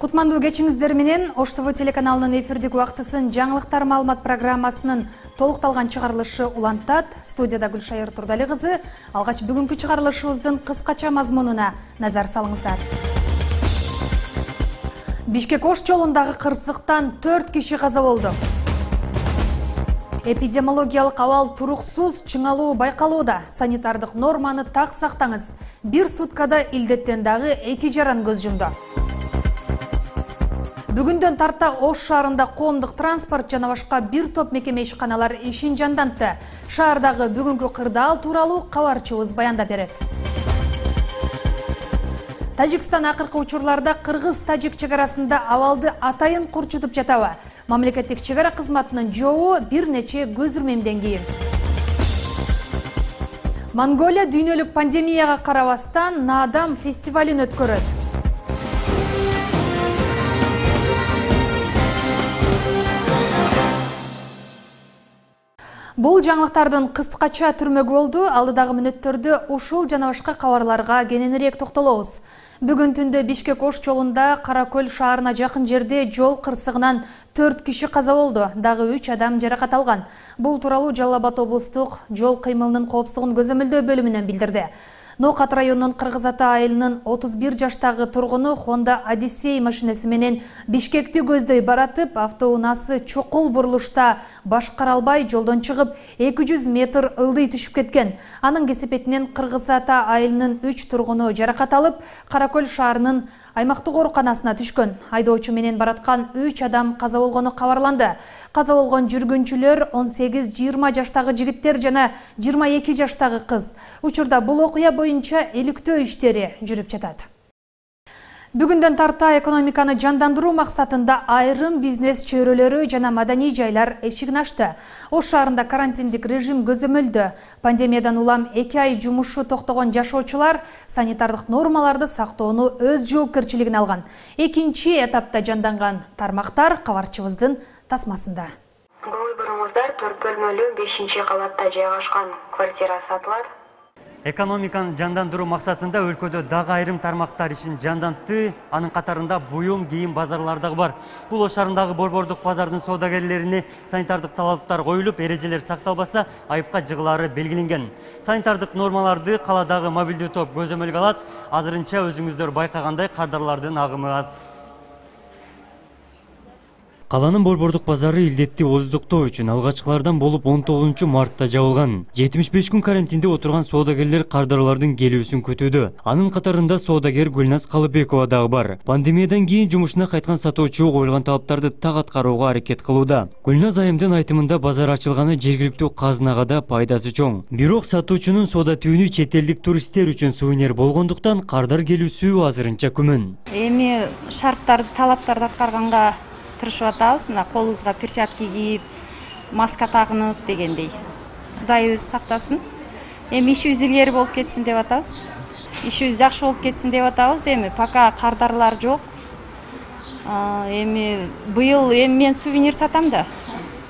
Кутмандуу кечиңиздер менен Ош ТВ телеканалынын эфирдик убактысын жаңылыктар маалымат программасынын толукталган чыгарылышы улантат. Студияда Гүлшайыр Турдали кызы. Алгач бүгүнкү чыгарылышыбыздын кыскача мазмунуна назар салыңыздар. Бишкек-Ош жолундагы кырсыктан 4 киши каза болду. Эпидемиологиялык абал туруксуз чыңалуу байкалууда. Санитардык норманы так сактаңыз. Бир суткада илдеттен дагы 2 жаран көз жумду. Бүгүндөн тарта Ош шаарында коомдук транспорт жана башка бир топ мекеме ишканалар ишин жандантты. Шаардагы бүгүнкү кырдаал тууралуу кабарчыбыз баяндап берет. Тажикстан акыркы учурларда кыргыз-тажик чек арасында абалды атайын курчутуп жатабы? Мамлекеттик чек ара кызматынын жообу бир нече көзүрмемден кийин. Монголия дүйнөлүк пандемияга карабастан Наадам фестивалин өткөрөт. Бул жаңылыктардын кыскача түрмөгү болду. Алдыдагы мүнөттөрдө ушул жана башка кабарларга кененирээк токтолобуз. Бүгүн түндө Бишкек-Ош жолунда Каракөл шаарына жакын жерде жол кырсыгынан 4 киши каза болду. Дагы 3 адам жаракат алган. Бул тууралуу Жалал Абад облустук жол кыймылынын коопсуздугун көзөмөлдөө бөлүмүнөн билдирди. Нокат районунун Кыргыз Ата айылынын 31 жаштагы тургуну Honda Odyssey машинеси менен Бишкекти көздөй баратып, автоунаасы чукул бурулушта башкара албай жолдон чыгып 200 метр ылдый түшүп кеткен. Анын кесепетинен Кыргыз Ата айылынын 3 тургуну жаракат алып, Каракөл шаарынын аймактык ооруканасына түшкөн. Айдоочу менен бараткан 3 адам каза болгону кабарланды. Каза болгон жүргүнчүлөр 18-20 жаштагы жигиттер жана 22 жаштагы кыз. Учурда бул окуя боюнча иликтөө иштери жүрүп жатат. Бүгүндөн тарта экономиканы жандандыруу максатында айрым бизнес чөйрөлөрү жана маданий жайлар эшигин ачты. Ош шаарында карантиндик режим көзөмөлдө. Пандемиядан улам 2 ай жумушу токтогон жашоочулар санитардык нормаларды сактоону өз жоопкерчилигине алган. Экинчи этапта жанданган тармактар кабарчыбыздын тасмасында. Борборумуздар 4 бөлмөлүү 5-кабатта жайгашкан квартира сатылат. Экономиканы жандандыруу максатында өлкөдө дагы айрым тармактар ишин жандантты. Анын катарында буюм, кийим базарлары дагы бар. Бул Ош шаарындагы борбордук базардын соодагерлерине санитардык талаптар коюлуп, эрежелер сакталбаса, айыпка жыгылаары белгиленген. Санитардык нормаларды каладагы мобилдүү топ көзөмөлгө алат. Азырынча өзүңүздөр байкагандай кардарлардын агымы аз. Каланын борбордук базары илдетти ооздуктоо үчүн алгачкылардан болуп 19 мартта жабылган. 75 күн карантинде отурган соодагерлер кардарлардын келүүсүн күтүүдө. Анын катарында соодагер Гүлназ Калыбекова дагы бар. Пандемиядан кийин жумушуна кайткан сатуучу коюлган талаптарды так аткарууга аракет кылууда. Гүлназ айымдын айтымында базар ачылганы жергиликтүү казынага да пайдасы чоң. Бирок сатуучунун соода түйүнү чет элдик туристтер үчүн сувенир болгондуктан кардар келүүсү азырынча күмөн. Эми шарттарды, талаптарды аткарганга тырышып атабыз. Мына колубузга перчатки кийип, маска тагынып дегендей. Кудай өзү сактасын. Эми ишибиз илгери болуп кетсин деп атабыз. Ишибиз жакшы болуп кетсин деп атабыз. Эми пока кардарлар жок. Эми быйыл мен сувенир сатам да.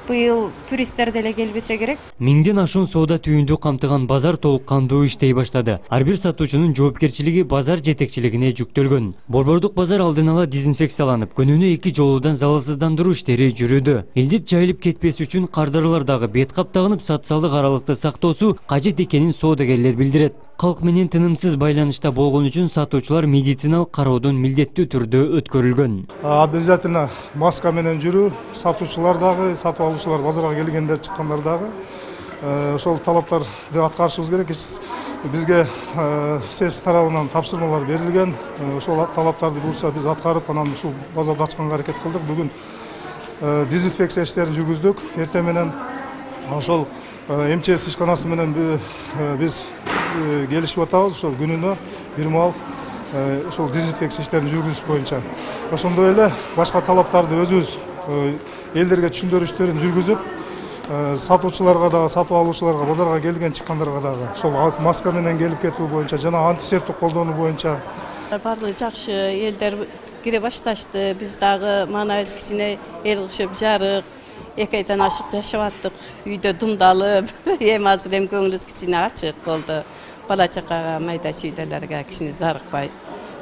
Быйыл туристтер деле келбесе керек. Миңден ашуун соода түйүндү камтыган базар толук кандуу иштей баштады. Ар бир сатуучунун жоопкерчилиги базар жетекчилигине жүктөлгөн. Борбордук базар алдын ала дезинфекцияланып, күнүнө 2 жолудан залалсыздандыруу иштери жүрүүдө. Илдет жайылып кетпес үчүн кардарлар дагы бет кап тагынып, социалдык аралыкты сактоосу кажет экенин соодагерлер билдирет. Калк менен тынымсыз байланышта болгон үчүн сатуучулар медициналык кароодон милдеттүү түрдө өткөрүлгөн. Обязательно маска менен жүрүү, сатуучулар дагы, сатып алуучулар, базарга келгендер, чыккандар дагы ошол талаптарды аткарышыбыз керек. Бизге СЭС тарабынан тапшырмалар берилген. Ошол талаптарды буюрса биз аткарып, анан ушул базарды ачканга аракет кылдык. Бүгүн дезинфекция иштерин жүргүздүк. Эртең менен ошол МЧС ишканасы менен биз келишип атабыз. Ошол күнүнө бир маал ошол дезинфекция иштерин жүргүзүш боюнча. Ошондой эле башка талаптарды өзүбүз элдерге түшүндүрүү иштерин жүргүзүп, сатуучуларга дагы, сатып алуучуларга, базарга келген чыккандарга дагы ошол маска менен келип кетүү боюнча жана антисептик колдонуу боюнча баардыгы жакшы, элдер кире башташты. Биз дагы манабыз кичине эл кышып жарык, 2 айдан ашык жашап аттык. Үйдө думдалып, эми азыр көңүлүбүз кичине ачык болду. Бала чакага, майда чүйдөлөргө кичине зарыкпай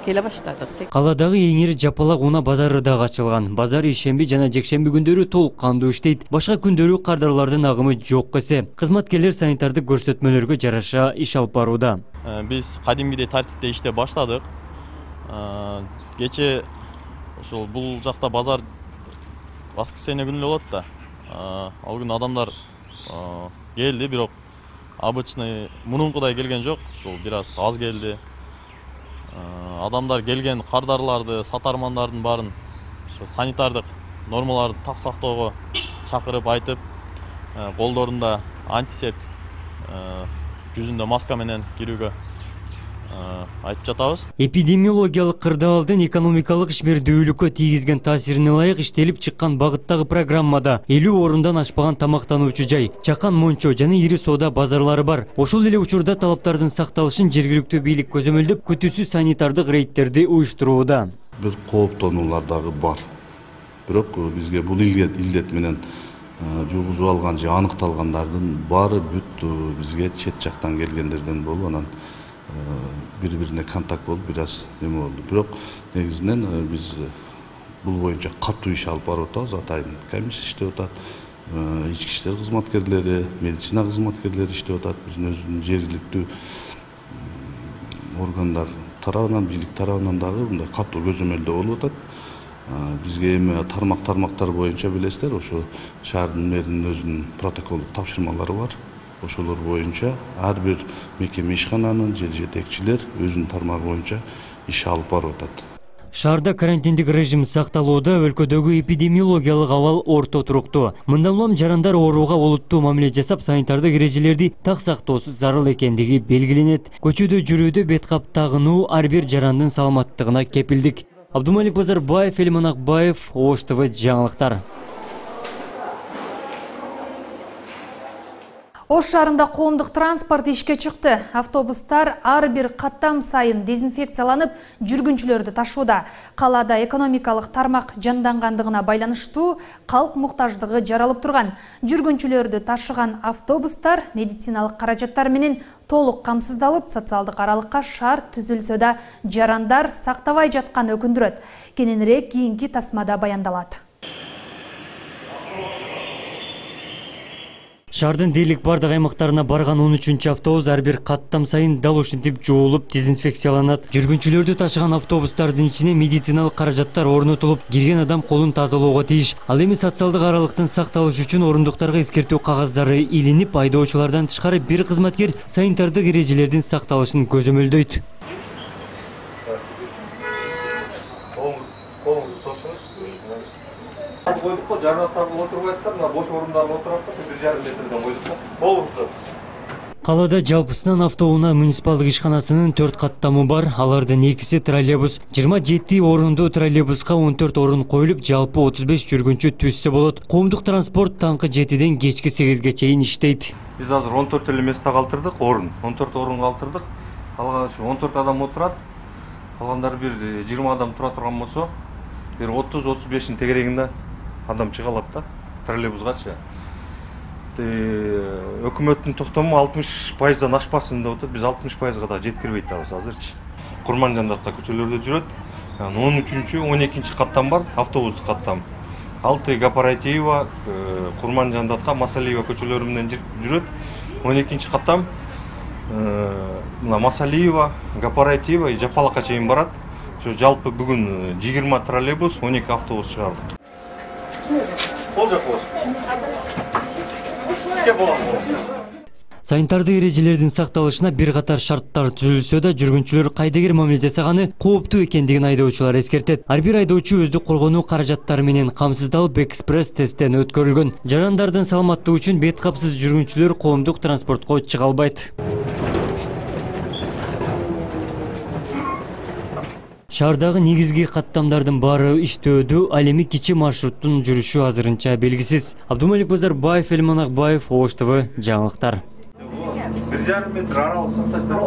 келе баштадык. Каладагы эң ири жапалак унаа базары дагы ачылган. Базар ишемби жана жекшемби күндөрү толук кандуу иштейт. Башка күндөрү кардарлардын агымы жок эсе. Кызматкерлер санитардык көрсөтмөлөргө жараша иш алып барууда. Биз кадимгидей тартипте иштеп баштадык. Кече ошол бул жакта базар воскресенье күнү болот да. Ал күнү адамдар келди, бирок обычный мурункудай келген жок. Ошол бир аз келди. Адамдар келген кардарларды, сатармандардын баарын санитардык нормаларды так сактоого чакырып айтып, колдорунда антисептик, жүзүндө маска менен кирүүгө айтып жатабыз. Эпидемиологиялык кырдаалдын экономикалык ишмердүүлүккө тийгизген таасирине ылайык иштелип чыккан багыттагы программада 50 орундан ашпаган тамактануучу жай, чакан мончо жана ири соода базарлары бар. Ошол эле учурда талаптардын сакталышын жергиликтүү бийлик көзөмөлдөп, күтүүсүз санитардык рейдтерди уюштурууда. Бир кооптонуулар дагы бар. Бирок бизге бул илдет менен жугузуп алган же аныкталгандардын баары бүт бизге чет жактан келгендерден болуп, анан бири-бирине контакт болуп бир аз неме болду. Бирок негизинен биз бул боюнча катуу иш алып барып атабыз. Атайын комиссия иштеп атат, ички иштер кызматкерлери, медицина кызматкерлери иштеп атат. Биздин өзүбүздүн жергиликтүү органдар тарабынан, бийлик тарабынан дагы мындай катуу көзөмөлдөө болуп атат. Бизге эми тармактар боюнча билесиздер, ошо шаардын мэринин өзүнүн протоколдук тапшырмалары бар. Ошолор боюнча ар бир мекеме ишкананын же жетекчилер өзүнүн тармагы боюнча иш алып барып атат. Шаарда карантиндик режим сакталууда, өлкөдөгү эпидемиологиялык абал орто туруктуу. Мындан улам жарандар ооруга олуттуу мамиле жасап, санитардык эрежелерди так сактоосу зарыл экендиги белгиленет. Көчөдө жүрүүдө бет кап тагынуу ар бир жарандын саламаттыгына кепилдик. Абдумалик Базарбаев, Элиман Акбаев, Ош ТВ жаңылыктар. Ош шаарында коомдук транспорт ишке чыкты. Автобустар ар бир каттам сайын дезинфекцияланып, жүргүнчүлөрдү ташууда. Калаада экономикалык тармак жандангандыгына байланыштуу калк муктаждыгы жаралып турган. Жүргүнчүлөрдү ташыган автобустар медициналык каражаттар менен толук камсыздалып, социалдык аралыкка шарт түзүлсө да жарандар сактабай жатканы өкүндүрөт. Кененирээк кийинки тасмада баяндалат. Шаардын дээрлик бардык аймактарына барган 13-чү автобус ар бир каттам сайын дал ушинтип жуулуп, дезинфекцияланат. Жүргүнчүлөрдү ташыган автобустардын ичине медициналык каражаттар орнотулуп, кирген адам колун тазалоого тийиш. Ал эми социалдык аралыктын сакталышы үчүн орундуктарга эскертүү кагаздары илинип, айдоочулардан тышкары бир кызматкер санитардык эрежелердин сакталышын көзөмөлдөйт. Койдук, жарааттар отурбайсыздар, мына бош орундарга отурат, 1,5 метрден койдук. Болупту. Калаада жалпысынан автоунаа муниципалдык ишканасынын 4 каттамы бар. Алардын 2си троллейбус. 27 орунду троллейбуска 14 орун коюлуп, жалпы 35 жүргүнчү түзсө болот. Коомдук транспорт таңкы 7ден кечки 8ге чейин иштейт. Биз азыр 14 эле месте калтырдык, орун. 14 орун калтырдык. Калган 14 адам отурат. Калгандары бир 20 адам тура турган болсо, бир 30-35-ин тегерегинде адам чыга алат да, троллейбусгачы. Өкмөттүн токтому 60%дан ашпасын деп атат. Биз 60%га да жеткирбей атабыз азырчы. Курманжандатка көчөлөрдө жүрөт. 13-чү, 12-чи каттам бар, автобустук каттам. Алты Гапаратиева, Курманжандатка, Масалиева көчөлөрү менен жүрөт. 12-чи каттам Масалиева, Гапаратиева, Жапалакка чейин барат. Ошо жалпы бүгүн 20 троллейбус, 12 автобус чыгардык. Кол жак болсун. Санитардык эрежелердин сакталышына бир катар шарттар түзүлсө да, жүргүнчүлөр кайдыгер мамиле жасаганы кооптуу экендигин айдоочулар эскертет. Ар бир айдоочу өздүк коргонуу каражаттары менен камсыздалып, экспресс тесттен өткөрүлгөн. Жарандардын саламаттыгы үчүн бет капсыз жүргүнчүлөр коомдук транспортко чыга албайт. Шаардагы негизги каттамдардын баары иштөөдө, ал эми кичи маршруттун жүрүшү азырынча белгисиз. Абдумалик Базарбаев, Элиман Акбаев, Ош ТВ жаңылыктар. 1,5 метр аралык сактайсыздар.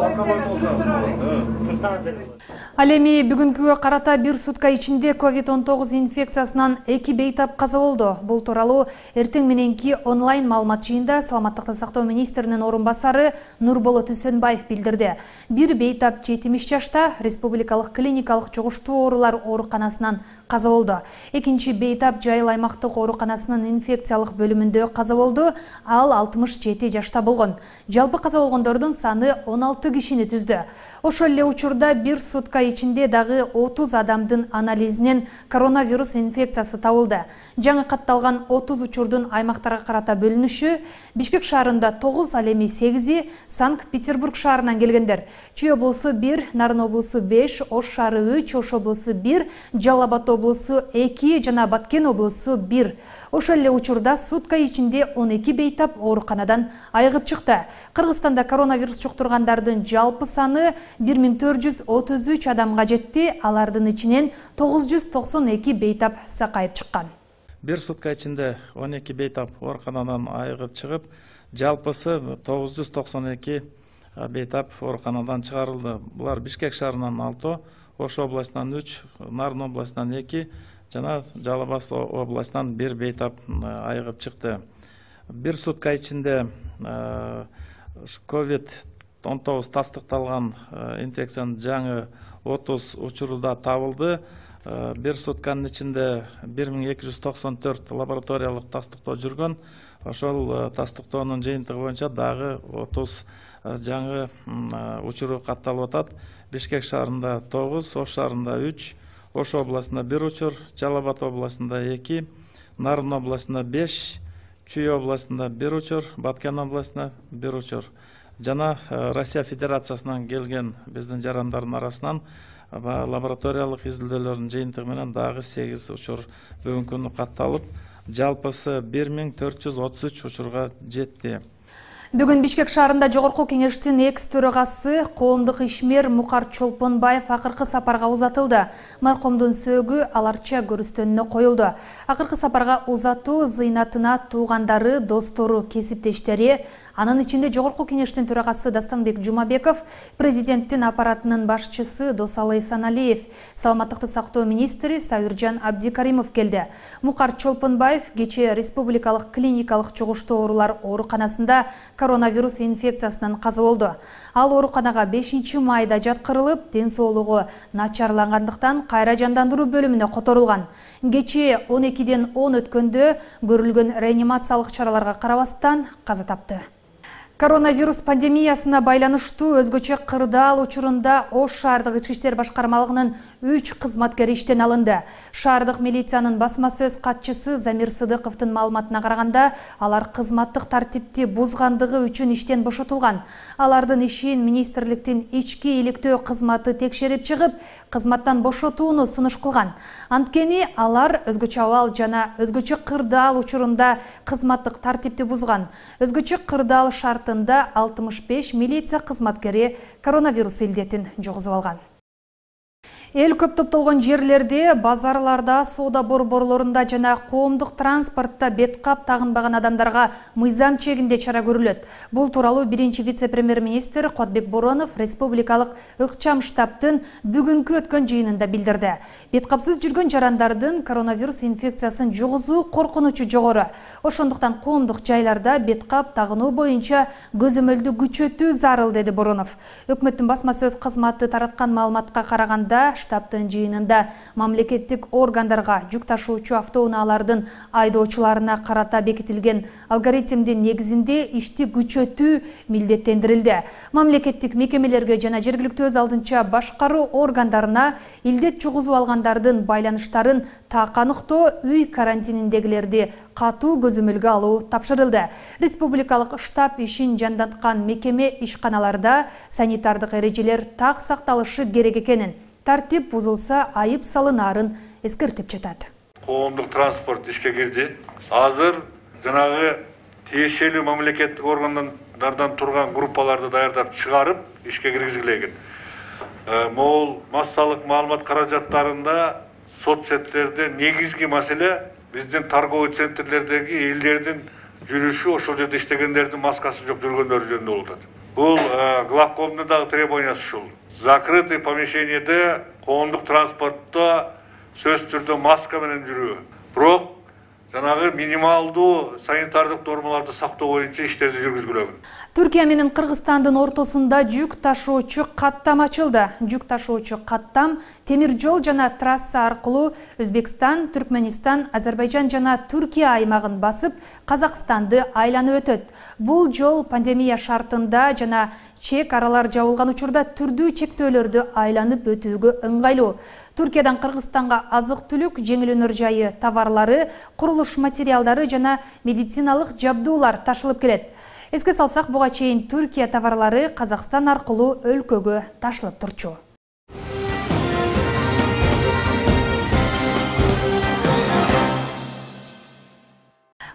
Ал эми бүгүнкүгө карата бир сутка ичинде COVID-19 инфекциясынан 2 бейтап каза болду. Бул тууралуу эртең мененки онлайн маалымат жыйында Саламаттыкты сактоо министринин орун басары Нурболот Үсөнбаев билдирди. Бир бейтап 70 жашта Республикалык клиникалык жугуштуу оорулар ооруканасынан каза болду. Экинчи бейтап Жайыл аймактык ооруканасынын инфекциялык бөлүмүндө каза болду. Ал 67 жашта болгон. Жалпы каза болгондордун саны 16 кишини түздү. Ошол эле учурда бир сутка ичинде дагы 30 адамдын анализинен коронавирус инфекциясы табылды. Жаңы катталган 30 учурдун аймактарга карата бөлүнүшү: Бишкек шаарында 9, ал эми 8, Санкт-Петербург шаарынан келгендер. Чүй облусу 1, Нарын облусу 5, Ош шаары 3, Ош облусу 1, Жалал Абад облусу 2 жана Баткен облусу 1. Ошол эле учурда сутка ичинде 12 бейтап ооруканадан айыгып чыкты. Кыргызстанда коронавирус жуктургандардын жалпы саны 1433 адамга жетти. Алардын ичинен 992 бейтап сакайып чыккан. Бир сутка ичинде 12 бейтап ооруканадан айыгып чыгып, жалпысы 992 бейтап ооруканадан чыгарылды. Булар Бишкек шаарынан 6, Ош областынан 3, Нарын областынан 2 жана Жалал Абад областынан 1 бейтап айыгып чыкты. Бир сутка ичинде COVID-19 тастыкталган инфекциянын жаңы 30 учурда табылды. Бир сутканын ичинде 1294 лабораториялык тастыктоо жүргөн. Ошол тастыктоонун жыйынтыгы боюнча дагы 30 жаңы учуру катталып атат. Бишкек шаарында 9, Ош шаарында 3, Ош областында 1 учур, Жалал Абад областында 2, Нарын областында 5, Чүй областында 1 учур, Баткен областында 1 учур. Жана Россия Федерациясынан келген биздин жарандардын арасынан лабораториялык изилдөөлөрдүн жыйынтыгы менен дагы 8 учур бүгүнкү күнү катталып, жалпысы 1433 учурга жетти. Бүгүн Бишкек шаарында Жогорку кеңештин экс-төрагасы коомдук ишмер Мукар Чолпонбаев акыркы сапарга узатылды. Маркомдун сөөгү аларча көрүстөнүнө коюлду. Акыркы сапарга узатуу зыйнатына туугандары, достору, кесиптештери, анын ичинде Жогорку кеңештин төрагасы Дастанбек Жумабеков, президенттин аппаратынын башчысы Досалы Эсеналиев, Саламаттыкты сактоо министри Сабиржан Абдикаримов келди. Мукар Чолпонбаев кечээ Республикалык клиникалык жугуштуу оорулар ооруканасында коронавирус инфекциясынан каза болду. Ал ооруканага 5 майда жаткырылып, ден соолугу начарлангандыктан кайра жандандыруу бөлүмүнө которулган. Кечээ 12ден 10 өткөндө көрүлгөн реанимациялык чараларга карабастан каза тапты. Коронавирус пандемиясына байланыштуу өзгөчө кырдаал учурунда Ош шаардык ички иштер башкармалыгынын 3 кызматкери иштен алынды. Шаардык милициянын басма сөз катчысы Замир Сыдыковдун маалыматына караганда, алар кызматтык тартипти бузгандыгы үчүн иштен бошотулган. Алардын ишин министрликтин ички иликтөө кызматы текшерип чыгып, кызматтан бошотууну сунуш кылган. Анткени алар өзгөчө абал жана өзгөчө кырдаал учурунда кызматтык тартипти бузган. Өзгөчө кырдаал шартында 65 милиция кызматкери коронавирус илдетин жугузуп алган. Эл көп топтолгон жерлерде, базарларда, соода борборлорунда жана коомдук транспортто бет кап тагынбаган адамдарга мыйзам чегинде чара көрүлөт. Бул тууралуу биринчи вице-премьер-министр Кодбек Боронов республикалык ыкчам штабтын бүгүнкү өткөн жыйынында билдирди. Бет капсыз жүргөн жарандардын коронавирус инфекциясын жугузуу коркунучу жогору. Ошондуктан коомдук жайларда бет кап тагынуу боюнча көзөмөлдү күчөтүү зарыл, деди Боронов. Өкмөттүн басма сөз кызматы тараткан маалыматка караганда, штабтын жыйынында мамлекеттик органдарга жүк ташуучу автоунаалардын айдоочуларына карата бекитилген алгоритмдин негизинде ишти күчөтүү милдеттендирилди. Мамлекеттик мекемелерге жана жергиликтүү өз алдынча башкаруу органдарына илдет жугузуп алгандардын байланыштарын так аныктоо, үй карантининдегилерди катуу көзөмөлгө алуу тапшырылды. Республикалык штаб ишин жанданткан мекеме ишканаларда санитардык эрежелер так сакталышы керек экенин, тартип бузулса айып салынаарын эскертип жатат. Коомдук транспорт ишке кирди. Азыр жанагы тиешелүү мамлекеттик органдардан турган группаларды даярдап чыгарып ишке киргизилген. Могул массалык маалымат каражаттарында соцсеттерде негизги маселе биздин торговый центрлердеги элдердин жүрүшү, ошол жерде иштегендердин маскасы жок жүргөндөрү жөнүндө болуп атат. Бул главкомдун дагы требованиясы ушул. Закрытый помещениеде коомдук транспортто сөзсүз түрдө маска менен жүрүү. Бирок жанагы минималдуу санитардык нормаларды сактоо боюнча иштерди жүргүзгүлөгүн. Түркия менен Кыргызстандын ортосунда жүк ташуучу каттам ачылды. Жүк ташуучу каттам темир жол жана трасса аркылуу Өзбекстан, Түркменистан, Азербайжан жана Түркия аймагын басып, Казакстанды айланып өтөт. Бул жол пандемия шартында жана чек аралар жабылган учурда түрдүү чектөөлөрдү айланып өтүүгө ыңгайлуу. Түркиядан Кыргызстанга азык-түлүк, жеңил өнөр жайы товарлары, курулуш материалдары жана медициналык жабдуулар ташылып келет. Эске салсак, буга чейин Түркия товарлары Казакстан аркылуу өлкөгө ташылып турчу.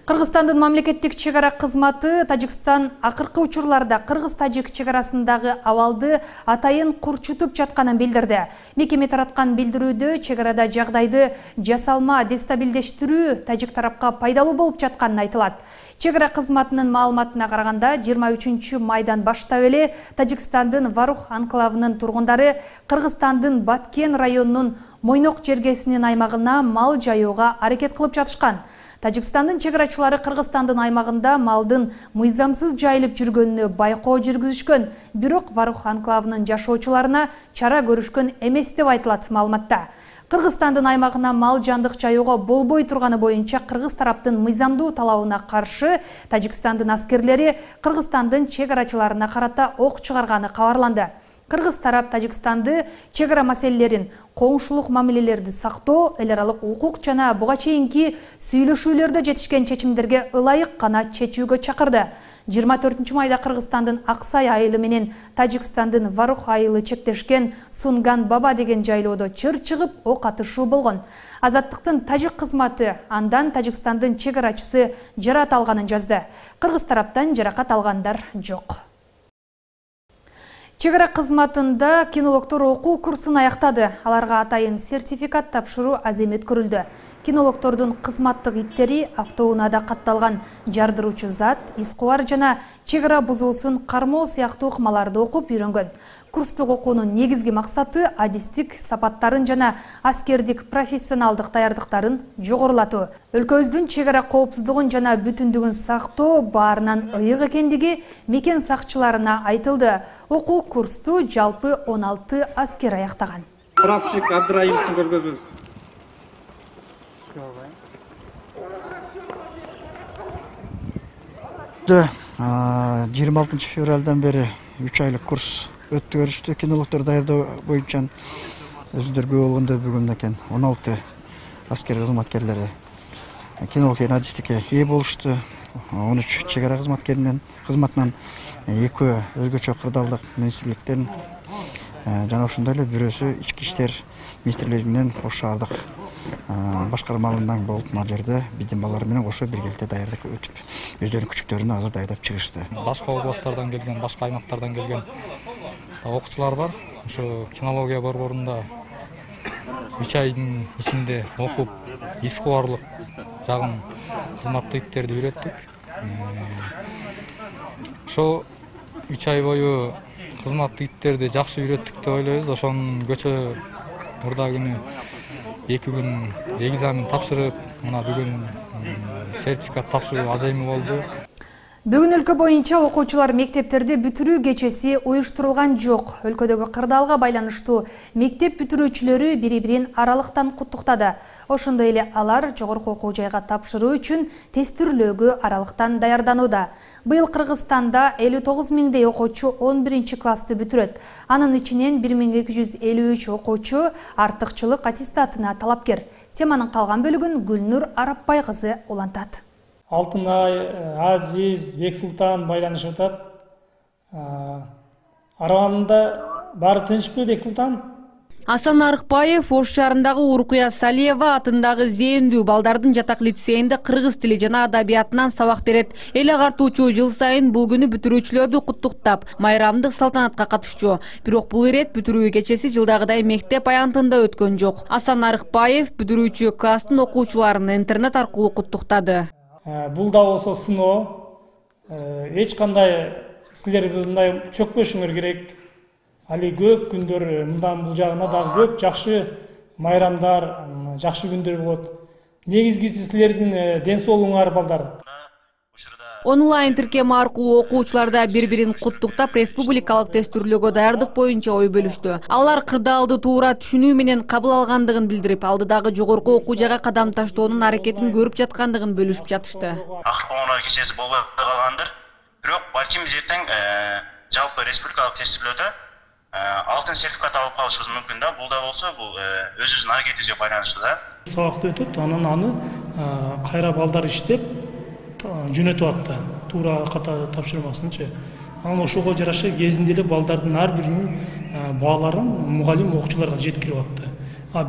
Кыргызстандын мамлекеттик чегара кызматы Тажикстан акыркы учурларда Кыргыз-Тажик чегарасындагы абалды атайын курчутуп жатканын билдирди. Мекеме тараткан билдирүүдө чегарада жагдайды жасалма дестабилдештирүү тажик тарапка пайдалуу болуп жатканын айтылат. Чегара кызматынын маалыматына караганда 23 майдан баштап эле Тажикстандын Варух анклавынын тургундары Кыргызстандын Баткен районунун Мойнок жергесинин аймагына мал жайууга аракет кылып жатышкан. Тажикстандын чегарачылары Кыргызстандын аймагында малдын мыйзамсыз жайылып жүргөнүнө байкоо жүргүзүшкөн, бирок Варух анклавынын жашоочуларына чара көрүшкөн эмес деп айтылат маалыматта. Кыргызстандын аймагына мал жандык жайууга болбой турганы боюнча кыргыз тараптын мыйзамдуу талабына каршы Тажикстандын аскерлери Кыргызстандын чегарачыларына карата ок чыгарганы кабарланды. Кыргыз тарап Тажикстанды чегара маселелерин, коңшулук мамилелерди сактоо, эл аралык укук жана буга чейинки сүйлөшүүлөрдө жетишкен чечимдерге ылайык гана чечүүгө чакырды. 24 майда Кыргызстандын Аксай айылы менен Тажикстандын Варух айылы чектешкен Сунган Баба деген жайлоодо чыр чыгып ок атышуу болгон. Азаттыктын тажик кызматы андан Тажикстандын чегарачысы жаракат алганын жазды. Кыргыз тараптан жаракат алгандар жок. Чегара кызматында кинологдор окуу курсун аяктады. Аларга атайын сертификат тапшыруу аземет көрүлдү. Кинологдордун кызматтык иттери автоунаада катталган жардыруучу зат, искубар жана чегара бузуусун кармоо сыяктуу ыкмаларды окуп үйрөнгөн. Курстук окуунун негизги максаты адистик сапаттарын жана аскердик профессионалдык даярдыктарын жогорулатуу. Өлкөбүздүн чегара коопсуздугун жана бүтүндүгүн сактоо баарынан ыйык экендиги мекен сакчыларына айтылды. Окуу курсту жалпы 16 аскер аяктаган. Практик Абдраимовдун көргөзмөсү. 26 февралдан бери 3 айлык курс өттү көрүштү. Кинологдор даярдоо боюнча өзүндөргө болгондо бүгүн экен 16 аскер кызматкерлери кинолог жана адистикке ээ болушту. 13 чегара кызматынан 2 өзгөчө кырдаалдык министрликтен жана ошондой эле бирөөсү ички иштер министрлигинен ош шаардык башкармаларынан болуп мына жерде биздин балдар менен кошо биргеликте даярдык өтүп өздөрүнүн күчүктөрүн азыр даярдап чыгышты. Башка областтардан келген, башка аймактардан келген окуучулар бар. Ошо кинология борборунда 3 айдын ичинде окуп, искубарлык жагын кызматтык иттерди үйрөттүк. Ошо 3 ай бою кызматтык иттерди жакшы үйрөттүк деп ойлойбуз. Ошонун көчө мурда күнү 2 күн экзамен тапшырып, мына бүгүн сертификат тапшыруу аземи болду. Бүгүн өлкө боюнча окуучулар мектептерде бүтүрүү кечеси уюштурулган жок. Өлкөдөгү кырдаалга байланыштуу мектеп бүтүрүүчүлөрү бири-бирин аралыктан куттуктады. Ошондой эле алар жогорку окуу жайга тапшыруу үчүн тестирлөөгө аралыктан даярданууда. Быйыл Кыргызстанда 59 миңдей окуучу 11-классты бүтүрөт. Анын ичинен 1253 окуучу артыкчылык аттестатына талапкер. Теманын калган бөлүгүн Гүлнур Арапбай кызы улантат. Алтынай, Азиз, Бексултан байланышып атат. Араванында баары тынчпы, Бексултан? Асан Арыкбаев Ош шаарындагы Уркуя Салиева атындагы зээндүү балдардын жатак лицейинде кыргыз тили жана адабиятынан сабак берет. Эл агартуучу жыл сайын бул күнү бүтүрүүчүлөрдү куттуктап, майрамдык салтанатка катышчу. Бирок бул ирет бүтүрүү кечеси жылдагыдай мектеп аянтында өткөн жок. Асан Арыкбаев бүтүрүүчү класстын окуучуларын интернет аркылуу куттуктады. Бул да болсо сыноо, эч кандай силер мындай чөкпөшүңөр керек. Али көп күндөр мындан бул жагына дагы көп жакшы майрамдар, жакшы күндөр болот. Негизгиси силердин ден соолугуңар балдар. Онлайн тиркем аркылуу окуучуларда бири-бирин куттуктап республикалык тестүрлөөгө даярдык боюнча ой бөлүштү. Алар кырдаалды туура түшүнүү менен кабыл алгандыгын билдирип, алдыдагы жогорку окуу жайга кадам таштоонун аракетин көрүп жаткандыгын бөлүшүп жатышты. Акыркы кечеси болбой калгандыр. Бирок балким биз эртең жалпы республикалык тестүрлөөдө алтын сертификат алып калышыбыз мүмкүн да. Бул да болсо бул өзүбүздүн аракетибизге байланыштуу да. Сабакты өтөт, анан аны кайра балдар иштеп жөнөтүп атты. Туура ката тапшырмасынчы. Анан ошого жараша кезинде эле балдардын ар биринин бааларын мугалим окуучуларга жеткирип атты.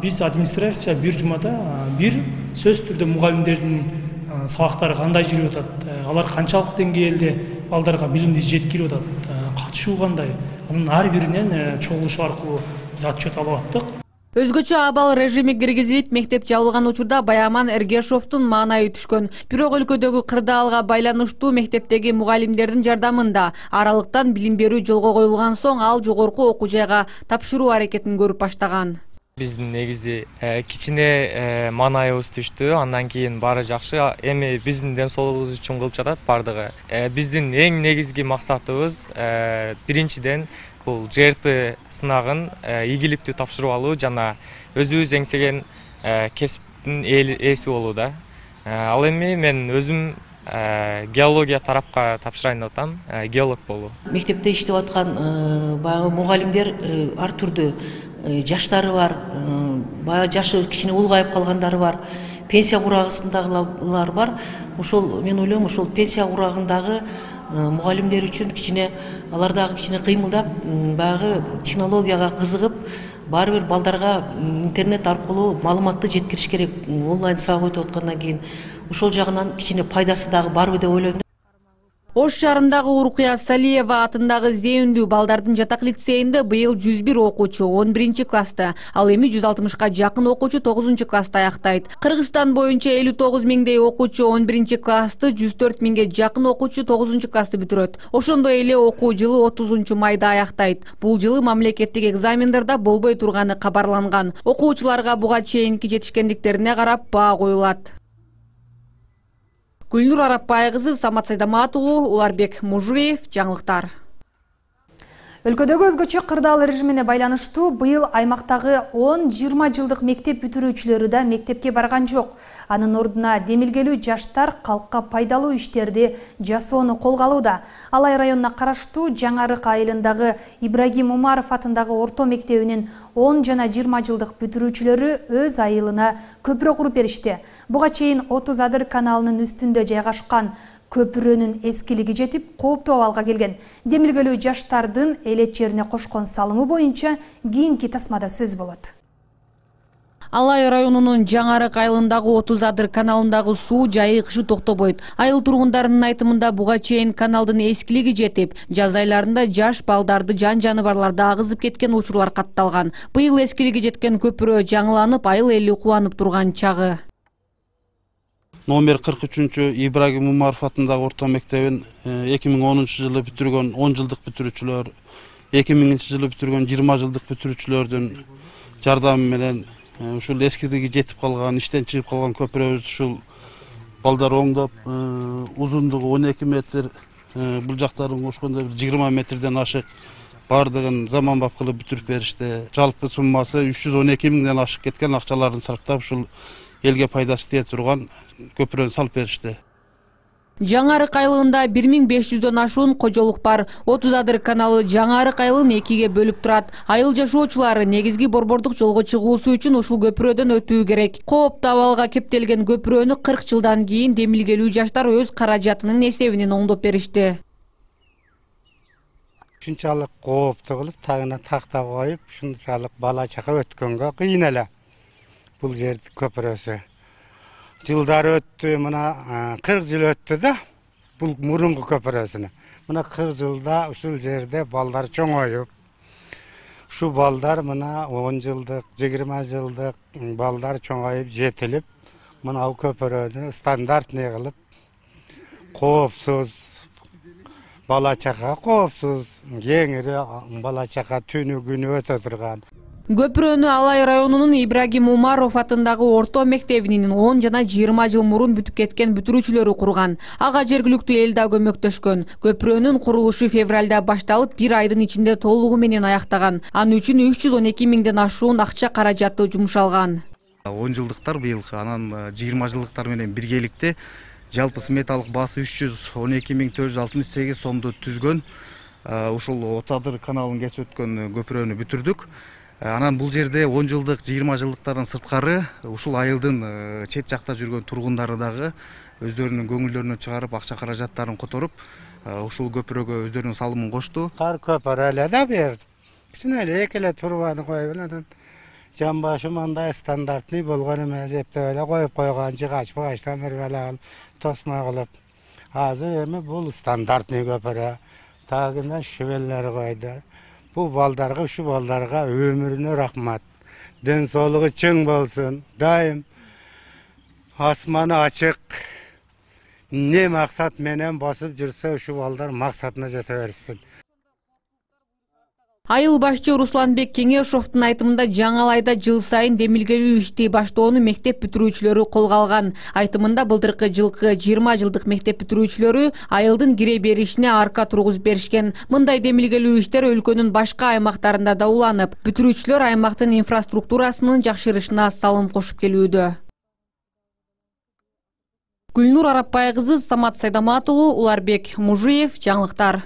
Биз администрация бир жумада бир сөз түрдө мугалимдердин сабактары кандай жүрүп атат, алар канчалык деңгээлде балдарга билимди жеткирип атат, катышуу кандай, анын ар биринен чогулуш аркылуу биз отчет алып аттык. Өзгөчө абал режими киргизилип, мектеп жабылган учурда Баяман Эргешовдун маанайы түшкөн. Бирок өлкөдөгү кырдаалга байланыштуу мектептеги мугалимдердин жардамында аралыктан билим берүү жолго коюлган соң ал жогорку окуу жайга тапшыруу аракетин көрүп баштаган. Биздин негизи кичине маанайыбыз түштү, андан кийин баары жакшы. Эми биздин ден соолугубуз үчүн кылып жатат бардыгы. Биздин эң негизги максатыбыз биринчиден бул ЖРТ сынагын ийгиликтүү тапшырып алуу жана өзүбүз эңсеген кесиптин ээси болуу да. Ал эми мен өзүм геология тарапка тапшырайын деп атам, геолог болуу. Мектепте иштеп аткан баягы мугалимдер ар түрдүү жаштары бар, баягы жашы кичине улгайып калгандары бар, пенсия курагындагылар бар. Ошол мен ойлойм, ошол пенсия курагындагы мугалимдер үчүн кичине алар дагы кичине кыймылдап, баягы технологияга кызыгып, баары бир балдарга интернет аркылуу маалыматты жеткириш керек. Онлайн сабак өтүп аткандан кийин ошол жагынан кичине пайдасы дагы барбы деп ойлойм. Ош шаарындагы Уркуя Салиева атындагы зээндүү балдардын жатак лицейинде быйыл 101 окуучу 11 класста, ал эми 160ка жакын окуучу 9 класста аяктайт. Кыргызстан боюнча 59 миңдей окуучу 11 классты, 104 миңге жакын окуучу 9 классты бүтүрөт. Ошондой эле окуу жылы 30 майда аяктайт. Бул жылы мамлекеттик экзамендерде болбой турганы кабарланган. Окуучуларга буга чейинки жетишкендиктерине карап баа коюлат. Гүлнур Арапбай кызы, Самат Сайдамат уулу, Уларбек Мужуев, жаңылыктар. Өлкөдөгү өзгөчө кырдаал режимине байланыштуу быйыл аймактагы 10-20 жылдык мектеп бүтүрүүчүлөрү да мектепке барган жок. Анын ордуна демилгелүү жаштар калкка пайдалуу иштерди жасоону колго алууда. Алай районуна караштуу Жаңарык айылындагы Ибрагим Умаров атындагы орто мектебинин 10 жана 20 жылдык бүтүрүүчүлөрү өз айылына көпүрө куруп беришти. Буга чейин 30 Адыр каналынын үстүндө жайгашкан көпүрөнүн эскилиги жетип, кооптуу абалга келген. Демилгелүү жаштардын элет жерине кошкон салымы боюнча кийинки тасмада сөз болот. Алай районунун Жаңарык айылындагы 30 Адыр каналындагы суу жайыгышы токтобойт. Айыл тургундарынын айтымында буга чейин каналдын эскилиги жетип, жаз айларында жаш балдарды жан-жаныбарларды агызып кеткен учурлар катталган. Быйыл эскилиги жеткен көпүрө жаңыланып, айыл эли кубанып турган чагы. Номер 43 Ибрагим Умаров атындагы орто мектебин 2010 жылы бүтүргөн 10 жылдык бүтүрүүчүлөр, 2000 жылы бүтүргөн 20 жылдык бүтүрүүчүлөрдүн жардамы менен ушул эскилиги жетип калган, иштен чыгып калган көпүрөбүз ушул балдар оңдоп, узундугу 12 метр, бул жактарын кошкондо 20 метрден ашык бардыгын заманбап кылып бүтүрүп беришти. Жалпы суммасы 312 миңден ашык кеткен акчаларын сарптап ушул элге пайдасы тие турган көпүрөнү салып беришти. Жаңарык айылында 1500дөн ашуун кожолук бар. 30 Адыр каналы Жаңарык айылын экиге бөлүп турат. Айыл жашоочулары негизги борбордук жолго чыгуусу үчүн ушул көпүрөдөн өтүү керек. Кооптуу абалга кептелген көпүрөнү 40 жылдан кийин демилгелүү жаштар өз каражатынын эсебинен оңдоп беришти. Ушунчалык кооптуу кылып, тагына такта коюп, ушунчалык бала чака өткөнгө кыйын эле. Бул жер көпүрөсү. Жылдар өттү, мына 40 жыл өттү да, бул мурунку көпүрөсүнө. Мына 40 жылда ушул жерде балдар чоңоюп, ушу балдар мына 10 жылдык, 20 жылдык балдар чоңоюп жетилип, мына көпүрөнү стандартный кылып, коопсуз бала чака коопсуз, кеңири бала чака түнү күнү өтө турган. Көпүрөнү Алай районунун Ибрагим Умаров атындагы орто мектебинин 10 жана 20 жыл мурун бүтүп кеткен бүтүрүүчүлөрү курган. Ага жергиликтүү эл да көмөктөшкөн. Көпүрөнүн курулушу февралда башталып, 1 айдын ичинде толугу менен аяктаган. Анын үчүн 312 миңден ашуун акча каражаты жумшалган. 10 жылдыктар быйыл, анан 20 жылдыктар менен биргеликте жалпы сметалык баасы 312.468 сомду түзгөн. Ушул Отадыр каналын кесип өткөн көпүрөнү бүтүрдүк. Анан бул жерде 10 жылдык, 20 жылдыктардан сырткары ушул айылдын чет жакта жүргөн тургундары дагы өздөрүнүн көңүлдөрүнөн чыгарып, акча каражаттарын которуп, ушул көпүрөгө өздөрүнүн салымын кошту. Кар көпүрө эле да берди. Кичине эле экеле турбаны коюп анан жамбашы мындай стандартный болгон эмес, эптеп эле коюп койгон, жыгач-багачтан бир бала тосмо кылып. Азыр эми бул стандартный көпүрө. Тагына шевеллер койду. Bu baldarga, şu baldarga ömrüne rahmat. Den soluğu çın bolsun. Daim asmanı açık. Ne maksat menen basıp жүрсө, şu baldar maksatına jete bersin. Айыл башчы Русланбек Кеңешовдун айтымында жаңы айда жыл сайын демилгелүү ишти баштоону мектеп бүтүрүүчүлөрү колго алган. Айтымында былтыркы жылкы 20 жылдык мектеп бүтүрүүчүлөрү айылдын кире беришине арка тургузуп беришкен. Мындай демилгелүү иштер өлкөнүн башка аймактарында да уланып, бүтүрүүчүлөр аймактын инфраструктурасынын жакшырышына салым кошуп келүүдө. Гүлнур Арапбай кызы, Самат Сайдамат уулу, Уларбек Мужиев, жаңылыктар.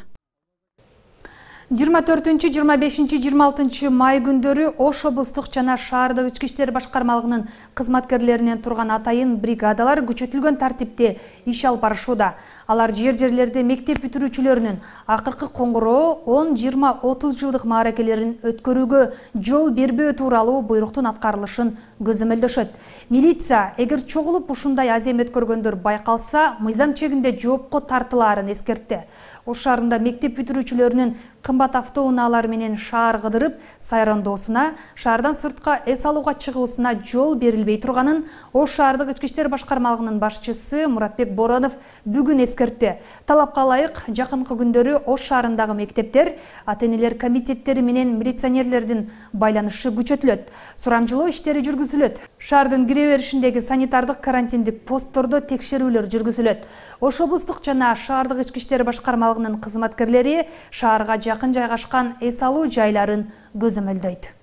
24-25-26 май күндөрү Ош облустук жана шаардык ички иштер башкармалыгынын кызматкерлеринен турган атайын бригадалар күчөтүлгөн тартипте иш алып барышууда. Алар жерлерде мектеп бүтүрүүчүлөрүнүн акыркы коңгуроо 10-20-30 жылдык мааракелерин өткөрүүгө жол бербөө тууралуу буйруктун аткарылышын көзөмөлдөшөт. Милиция эгер чогулуп ушундай аземет көргөндөр байкалса, мыйзам чегинде жоопко тартылаарын эскертти. Ош шаарында мектеп бүтүрүүчүлөрүнүн кымбат автоунаалар менен шаар кыдырып сайрандоосуна, шаардан сыртка эс алууга чыгуусуна жол берилбей турганын Ош шаардык ички иштер башкармалыгынын башчысы Муратбек Боронов бүгүн эскертти. Талапка ылайык жакынкы күндөрү Ош шаарындагы мектептер, ата-энелер комитеттери менен милиционерлердин байланышы күчөтүлөт. Сурамжылоо иштери жүргүзүлөт. Шаардын кире беришиндеги санитардык карантиндик посттордо текшерүүлөр жүргүзүлөт. Ош облустук жана шаардык ички иштер башкармалыгынын кызматкерлери шаарга жакын жайгашкан эс алуу жайларын көзөмөлдөйт.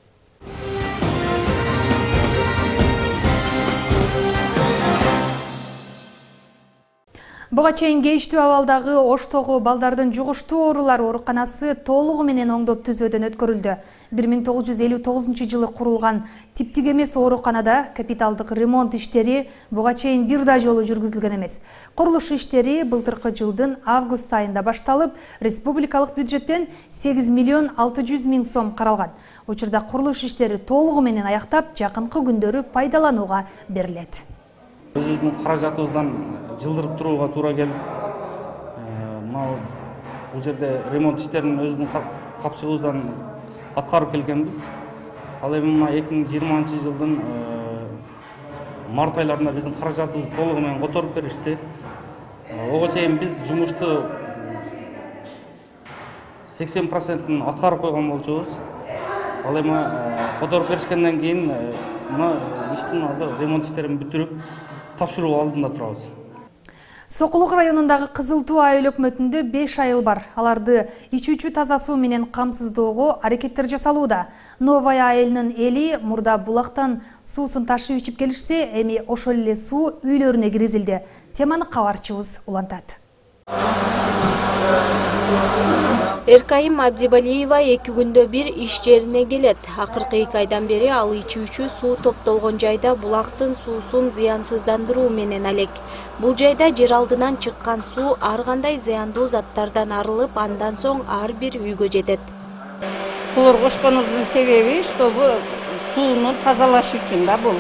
Буга чейин кейиштүү абалдагы Оштогу балдардын жугуштуу оорулар ооруканасы толугу менен оңдоп түзөөдөн өткөрүлдү. 1959 жылы курулган типтик эмес ооруканада капиталдык ремонт иштери буга чейин бир да жолу жүргүзүлгөн эмес. Курулуш иштери былтыркы жылдын август айында башталып, республикалык бюджеттен 8 миллион 600 миң сом каралган. Учурда курулуш иштери толугу менен аяктап, жакынкы күндөрү пайдаланууга берилет. Өзүбүздүн каражатыбыздан жылдырып турууга туура келип, бул жерде ремонт иштерин өзүбүздүн капчыгыбыздан аткарып келгенбиз. Ал эми 2020 жылдын март айларында биздин каражатыбызды толугу менен которуп беришти. Ого чейин биз жумушту 80% аткарып койгон болчубуз. Ал эми которуп беришкенден кийин мына иштин азыр ремонт иштерин бүтүрүп тапшыруу алдында турабыз. Сокулук районундагы Кызыл Туу айыл өкмөтүндө 5 айыл бар. Аларды ичүүчү таза суу менен камсыздоого аракеттер жасалууда. Новая айылынын эли мурда булактан суусун ташып ичип келишсе, эми ошол эле суу үйлөрүнө киргизилди. Теманы кабарчыбыз улантат. Эркайым Абдибалиева 2 күндө бир иш жерине келет. Акыркы 2 айдан бери ал ичүүчү суу топтолгон жайда булактын суусун зыянсыздандыруу менен алек. Бул жайда жер алдынан чыккан суу ар кандай зыяндуу заттардан арылып, андан соң ар бир үйгө жетет. Хлор кошконубуздун себеби, чтобы сууну тазалаш үчүн да бул.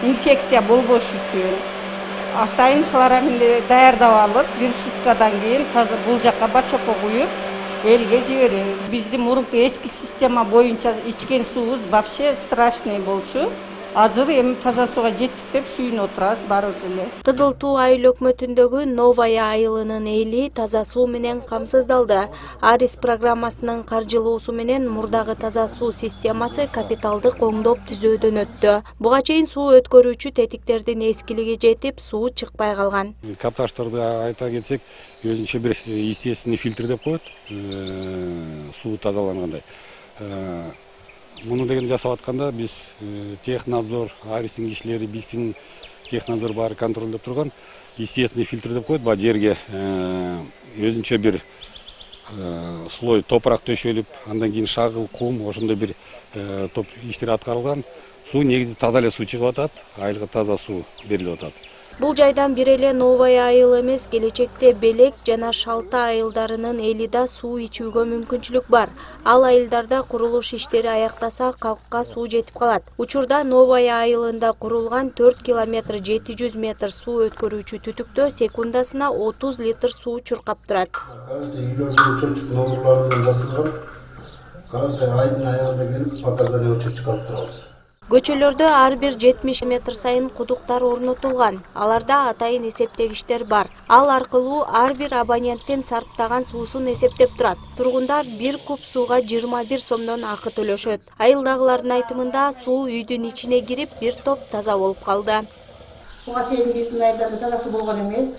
Инфекция болбош үчүн. Атайын хлораминди даярдап алып, 1 суткадан кийин таза бул жакка бачокко куюп, элге жиберебиз. Биздин мурунку эски система боюнча ичкен суубуз вообще страшный болчу. Азыр эми таза сууга жеттик деп сүйүнүп отурабыз баарыбыз эле. Кызыл Туу айыл өкмөтүндөгү Новая айылынын эли таза суу менен камсыздалды. Арис программасынын каржылоосу менен мурдагы таза суу системасы капиталдык оңдоп түзөөдөн өттү. Буга чейин суу өткөрүүчү тетиктердин эскилиги жетип, суу чыкпай калган. Капташтарды айта кетсек, өзүнчө бир естественный фильтр деп коет, суу тазалангандай. Муну деген жасап атканда биз технадзор, Аристин кишилери, биздин технадзор баары контролдоп турган естественный фильтр деп коет. Баа жерге өзүнчө бир слой топурак төшөлүп, андан кийин шагыл, кум, ошондой бир топ иштер аткарылган. Суу негизи таза эле суу чыгып атат, айылга таза суу берилип атат. Бул жайдан бир эле Новая айыл эмес, келечекте Белек жана Шалта айылдарынын эли да суу ичүүгө мүмкүнчүлүк бар. Ал айылдарда курулуш иштери аяктаса, калкка суу жетип калат. Учурда Новая айылында курулган 4 километр 700 метр суу өткөрүүчү түтүктө секундасына 30 литр суу чуркап турат. Каждый үйлөрдүн чөчүк номерлары менен басылган. Каждый айдын аягында келип показания чөчүк алып турабыз. Көчөлөрдө ар бир 70 метр сайын кудуктар орнотулган. Аларда атайын эсептегичтер бар. Ал аркылуу ар бир абоненттин сарптаган суусун эсептеп турат. Тургундар 1 куб сууга 21 сомдон акы төлөшөт. Айылдагылардын айтымында суу үйдүн ичине кирип, бир топ таза болуп калды. Буга чейин биздин айылдарда таза суу болгон эмес.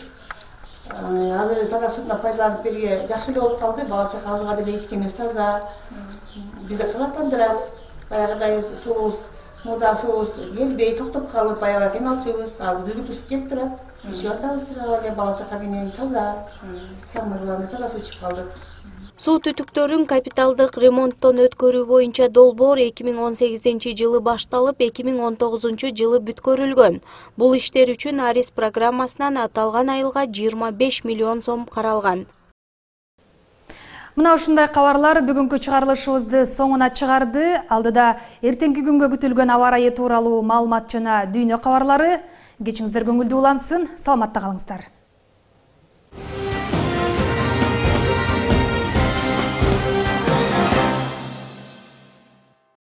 Азыр таза сууну пайдаланып берге жакшы эле болуп калды. Бала чакабызга деле эч кимибиз таза. Бизди кабаттандырат. Баягыдай суубуз мурда суубуз келбей токтоп калып, аябай кыйналчубуз. Азыр үгүтүбүз келип турат. Ичип атабыз эле бала чака менен таза. Самый главный таза суу ичип калдык. Суу түтүктөрүн капиталдык ремонттон өткөрүү боюнча долбоор 2018-жылы башталып, 2019-жылы бүткөрүлгөн. Бул иштер үчүн Арис программасынан аталган айылга 25 миллион сом каралган. Мына ушундай кабарлар бүгүнкү чыгарылышыбызды соңуна чыгарды. Алдыда эртеңки күнгө күтүлгөн аба ырайы тууралуу маалымат жана дүйнө кабарлары. Кечиңиздер көңүлдүү улансын. Саламатта калыңыздар.